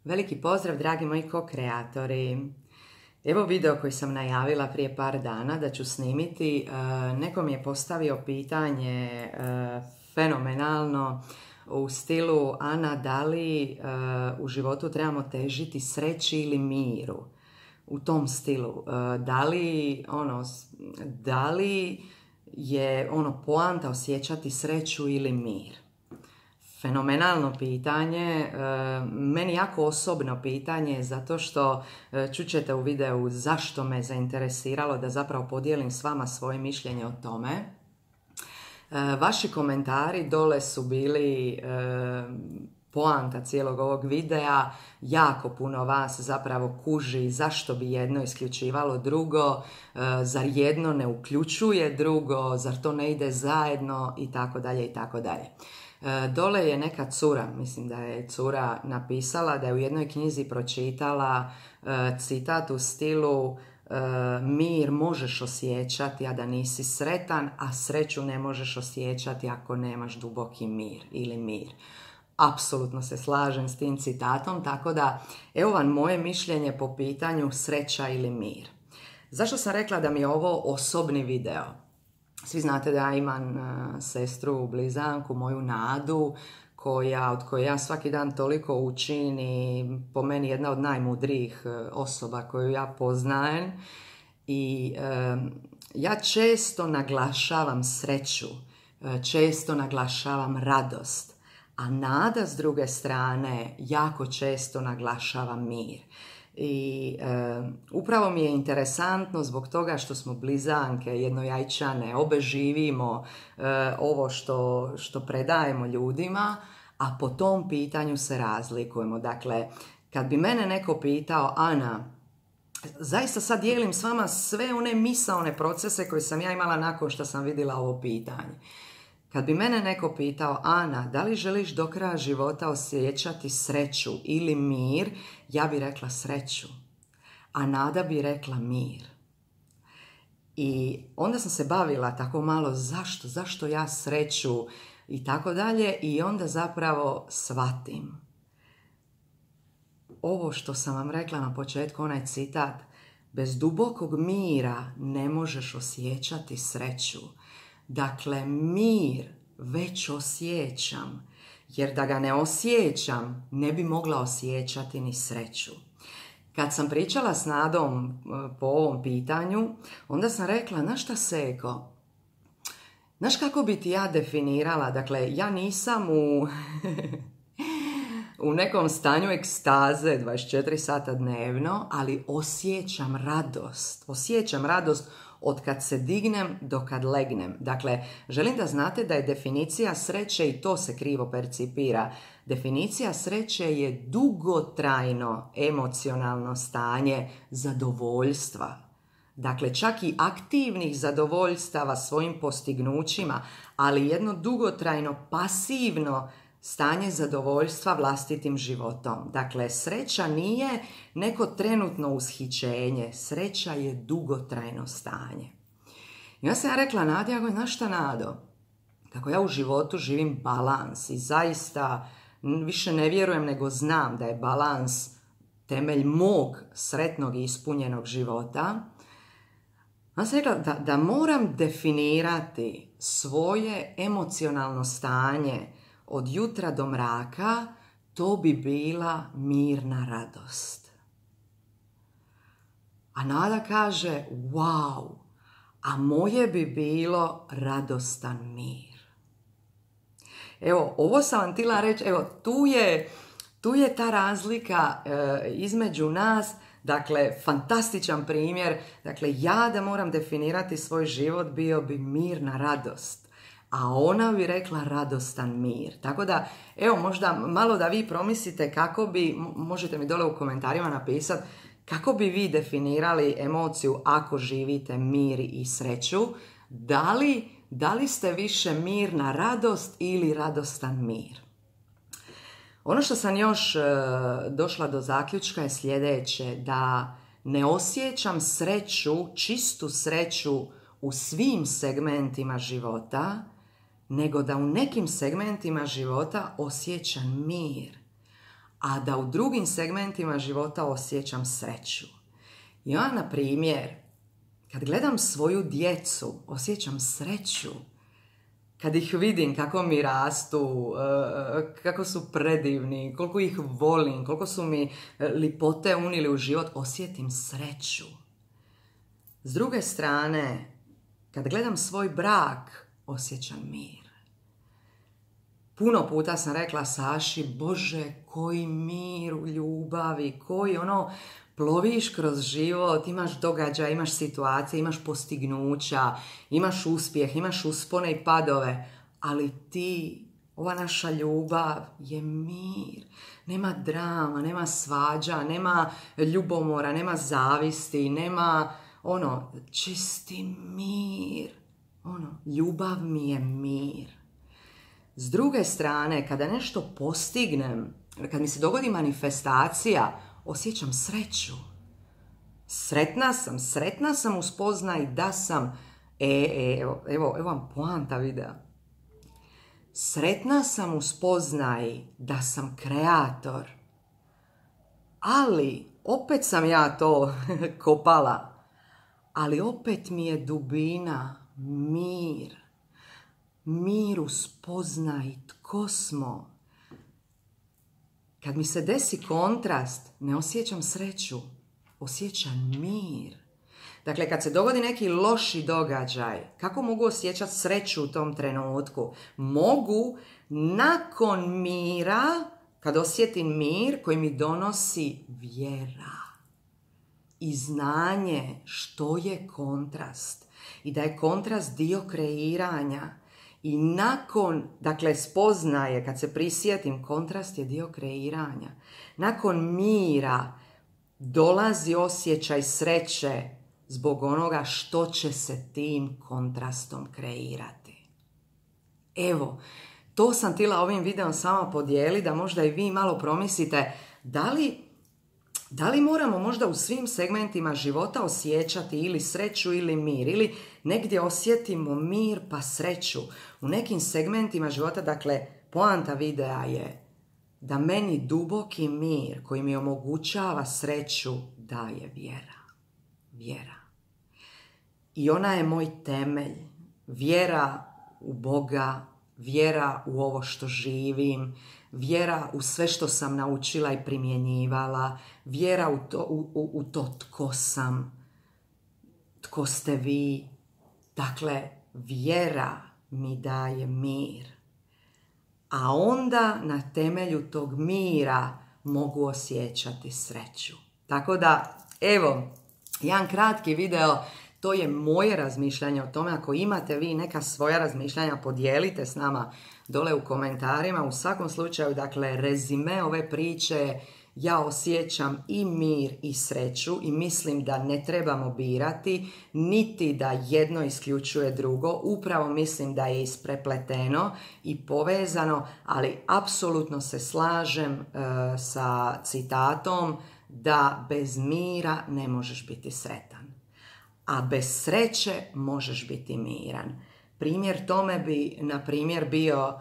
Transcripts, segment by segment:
Veliki pozdrav, dragi moji ko-kreatori. Evo video koji sam najavila prije par dana da ću snimiti. Neko mi je postavio pitanje fenomenalno u stilu: Ana, da li u životu trebamo težiti sreći ili miru? U tom stilu. Da li je poanta osjećati sreću ili mir? Fenomenalno pitanje, meni jako osobno pitanje, zato što čućete u videu zašto me zainteresiralo da zapravo podijelim s vama svoje mišljenje o tome. Vaši komentari dole su bili poanta cijelog ovog videa. Jako puno vas zapravo kuži zašto bi jedno isključivalo drugo, zar jedno ne uključuje drugo, zar to ne ide zajedno i tako dalje i tako dalje. Dole je neka cura, mislim da je cura napisala da je u jednoj knjizi pročitala citat u stilu: mir možeš osjećati a da nisi sretan, a sreću ne možeš osjećati ako nemaš duboki mir ili mir. Apsolutno se slažem s tim citatom, tako da evo vam moje mišljenje po pitanju sreća ili mir. Zašto sam rekla da mi je ovo osobni video? Svi znate da ja imam sestru, blizanku, moju Nadu, od koje ja svaki dan toliko učim i po meni jedna od najmudrijih osoba koju ja poznajem. I ja često naglašavam sreću, često naglašavam radost, a Nada s druge strane jako često naglašava mir. I upravo mi je interesantno zbog toga što smo blizanke, jednojajčane, obe živimo ovo što predajemo ljudima, a po tom pitanju se razlikujemo. Dakle, kad bi mene neko pitao: Ana, zaista sad dijelim s vama sve one misaone procese koje sam ja imala nakon što sam vidjela ovo pitanje. Kad bi mene neko pitao: Ana, da li želiš do kraja života osjećati sreću ili mir? Ja bi rekla sreću, a Nada bi rekla mir. I onda sam se bavila tako malo zašto ja sreću i tako dalje, i onda zapravo shvatim. Ovo što sam vam rekla na početku, onaj citat: bez dubokog mira ne možeš osjećati sreću. Dakle, mir već osjećam, jer da ga ne osjećam, ne bi mogla osjećati ni sreću. Kad sam pričala s Nadom po ovom pitanju, onda sam rekla: znaš šta, Seko, znaš kako bi ti ja definirala? Dakle, ja nisam u nekom stanju ekstaze 24 sata dnevno, ali osjećam radost. Osjećam radost od kad se dignem do kad legnem. Dakle, želim da znate da je definicija sreće, i to se krivo percipira, definicija sreće je dugotrajno emocionalno stanje zadovoljstva. Dakle, čak i aktivnih zadovoljstava svojim postignućima, ali jedno dugotrajno pasivno stanje zadovoljstva vlastitim životom. Dakle, sreća nije neko trenutno ushićenje, sreća je dugotrajno stanje. I onda sam ja rekla Nadi: znaš šta, Nado, kako ja u životu živim balans i zaista više ne vjerujem nego znam da je balans temelj mog sretnog i ispunjenog života. Onda sam rekla da moram definirati svoje emocionalno stanje od jutra do mraka, to bi bila mirna radost. A Nada kaže: wow, a moje bi bilo radostan mir. Evo, ovo sam vam htjela reći, evo, tu je ta razlika između nas. Dakle, fantastičan primjer. Dakle, ja da moram definirati svoj život, bio bi mirna radost, a ona bi rekla radostan mir. Tako da, evo, možda malo da vi promislite kako bi, možete mi dole u komentarima napisati, kako bi vi definirali emociju ako živite mir i sreću. Da li ste više mirna radost ili radostan mir? Ono što sam još došla do zaključka je sljedeće: da ne osjećam sreću, čistu sreću u svim segmentima života, nego da u nekim segmentima života osjećam mir, a da u drugim segmentima života osjećam sreću. Ja, na primjer, kad gledam svoju djecu, osjećam sreću. Kad ih vidim kako mi rastu, kako su predivni, koliko ih volim, koliko su mi lipote unili u život, osjetim sreću. S druge strane, kad gledam svoj brak, osjećam mir. Puno puta sam rekla Saši, Bože, koji mir u ljubavi, koji ploviš kroz život, imaš događaja, imaš situacije, imaš postignuća, imaš uspjeh, imaš uspone i padove, ali ti, ova naša ljubav je mir. Nema drama, nema svađa, nema ljubomora, nema zavisti, nema čisti mir. Ljubav mi je mir. S druge strane, kada nešto postignem, kad mi se dogodi manifestacija, osjećam sreću. Sretna sam u spoznaji da sam, evo vam poanta videa. Sretna sam u spoznaji da sam kreator. Ali, opet sam ja to kopala, ali opet mi je dubina, mir. Mir u spoznaji tko smo. Kad mi se desi kontrast, ne osjećam sreću, osjećam mir. Dakle, kad se dogodi neki loši događaj, kako mogu osjećati sreću u tom trenutku? Mogu nakon mira, kad osjetim mir koji mi donosi vjera i znanje što je kontrast i da je kontrast dio kreiranja. I nakon, spoznaje, kad se prisjetim, kontrast je dio kreiranja. Nakon mira dolazi osjećaj sreće zbog onoga što će se tim kontrastom kreirati. Evo, to sam htjela ovim videom sama podijeliti, da možda i vi malo promislite da li moramo možda u svim segmentima života osjećati ili sreću ili mir, ili negdje osjetimo mir pa sreću. U nekim segmentima života, poanta videa je da meni duboki mir koji mi omogućava sreću daje vjera. Vjera. I ona je moj temelj. Vjera u Boga, vjera u ovo što živim, vjera u sve što sam naučila i primjenjivala, vjera u to tko sam, tko ste vi. Dakle, vjera mi daje mir. A onda na temelju tog mira mogu osjećati sreću. Tako da, evo, jedan kratki video. To je moje razmišljanje o tome. Ako imate vi neka svoja razmišljanja, podijelite s nama dole u komentarima. U svakom slučaju, rezime ove priče, ja osjećam i mir i sreću i mislim da ne trebamo birati, niti da jedno isključuje drugo. Upravo mislim da je isprepleteno i povezano, ali apsolutno se slažem sa citatom da bez mira ne možeš biti sretan. A bez sreće možeš biti miran. Primjer tome bi, na primjer, bio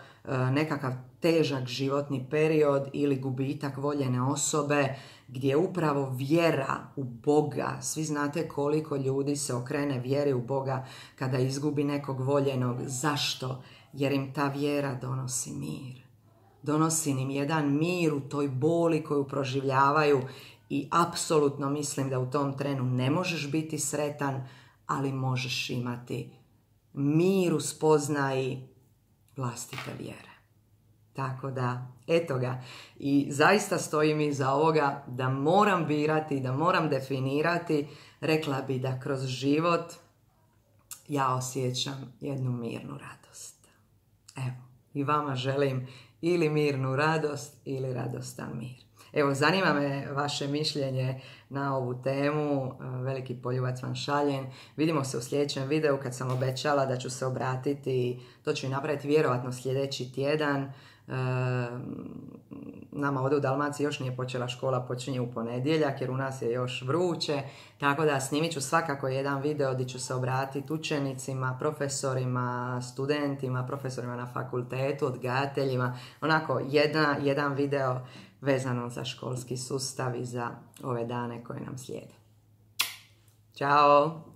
nekakav težak životni period ili gubitak voljene osobe, gdje upravo vjera u Boga, svi znate koliko ljudi se okrene vjeri u Boga kada izgubi nekog voljenog. Zašto? Jer im ta vjera donosi mir. Donosi im jedan mir u toj boli koju proživljavaju. I apsolutno mislim da u tom trenu ne možeš biti sretan, ali možeš imati mir u spoznaji vlastite vjere. Tako da, eto ga. I zaista stojim iza ovoga da moram birati, da moram definirati. Rekla bi da kroz život ja osjećam jednu mirnu radost. Evo, i vama želim ili mirnu radost ili radostan mir. Evo, zanima me vaše mišljenje na ovu temu. Veliki poljubac vam šaljem. Vidimo se u sljedećem videu kad sam obećala da ću se obratiti. To ću i napraviti vjerovatno sljedeći tjedan. Nama ovdje u Dalmaciji još nije počela škola, počinje u ponedjeljak jer u nas je još vruće. Tako da snimit ću svakako jedan video gdje ću se obratiti učenicima, profesorima, studentima, profesorima na fakultetu, odgajateljima. Onako jedan video vezano za školski sustav i za ove dane koje nam slijede. Ćao!